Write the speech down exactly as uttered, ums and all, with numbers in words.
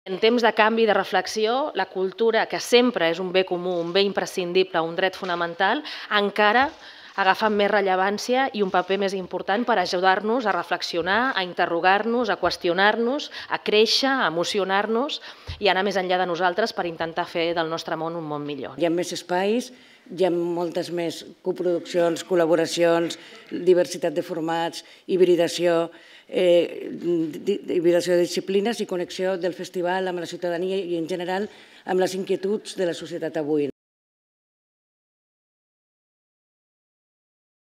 En temps de canvi i de reflexió, la cultura, que sempre és un bé comú, un bé imprescindible, un dret fonamental, encara agafa més rellevància i un paper més important per ajudar-nos a reflexionar, a interrogar-nos, a qüestionar-nos, a créixer, a emocionar-nos i anar més enllà de nosaltres per intentar fer del nostre món un món millor. Hi ha més espais, hi ha moltes més coproduccions, col·laboracions, diversitat de formats, hibridació, eh, hibridació de disciplines i connexió del festival amb la ciutadania i, en general, amb les inquietuds de la societat avui.